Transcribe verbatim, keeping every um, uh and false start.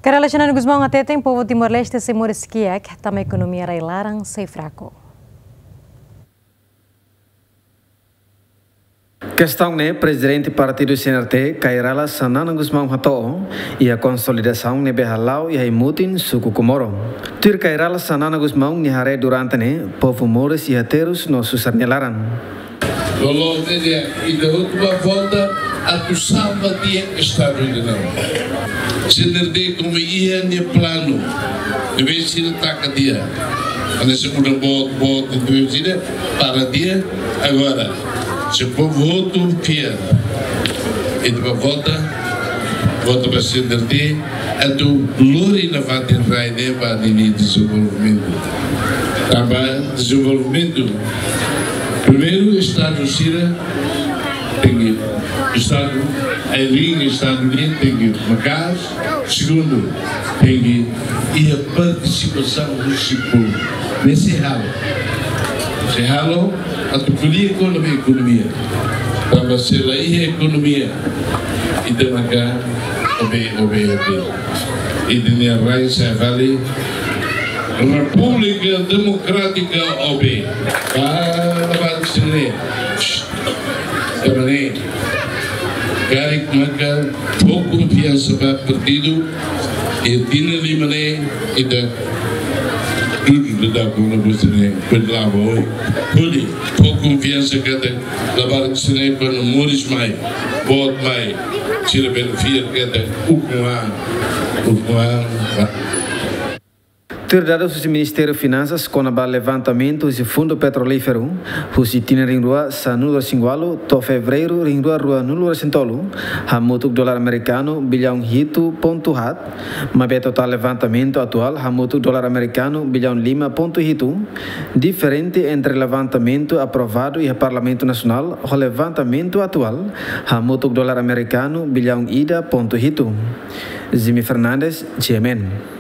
Kay Rala Xanana Gusmão hateten povu Timor-Leste sei moris kiak, tanba ekonomia rai-laran sei fraku. Kestaun ne'e Prezidente Partidu C N R T, Kay Rala Xanana Gusmão hato'o iha konsolidasaun ne'ebé hala'o iha ai-mutin suku Comoro. Tuir Kay Rala Xanana Gusmão nia haree durante ne'e, povu moris iha terus no susar nia laran. Loloos ne'e di'ak, ita hotu bá vota atu salva di'ak Estadu ida-ne'e. C N R T komu iha nia planu, ne'ebé sira taka tiha. Ane se muda boot, boot, entaun sira para tiha. Agora, se povu hotu fiar, ita bá vota, vota ba C N R T, atu lori nafatin rai ne'e ba ninia dezenvolvimentu. Tanba dezenvolvimentu, primeiru, Estadu sira tenke, Estadu, ai-riin Estadu nian tenke maka'as. Segundu, tenke iha partisipasaun husi povu. Ne'e sei halo. Sei halo, atu ko'alia kona-ba ekonomia. Tanba se la iha ekonomia, ita maka obe, obe, obe. Ita-nia rai sei fali Repúblika Demokrátika obe. Ba, ba, ba, sini. Tanba ne'e, karik maka fó konfiansa ba partidu, iha tinan lima ne'e, ita dudu dada kona-ba sira-ne'e, bele la'o ba oin. Hodi fó konfiansa katak labarik sira-ne'e kuandu moris mai, boot mai, sira bele fiar katak ukun an, ukun an, ba. Tuir dadus husi Ministériu Finansas kona-ba levantamentu husi Fundu Petrolíferu, husi tinan rihun rua sanulu-resin-ualu to'o Fevereiru rihun rua ruanulu-resin-tolu, hamutuk dolar amerikanu billaun hitu pontu haat, maibé totál levantamentu atuál hamutuk dolar amerikanu billaun lima pontu hitu, diferente entre levantamentu aprovadu iha Parlamentu Nasionál ho levantamentu atuál, hamutuk dolar amerikanu billaun ida pontu hitu. Jimmy Fernandes, G M N.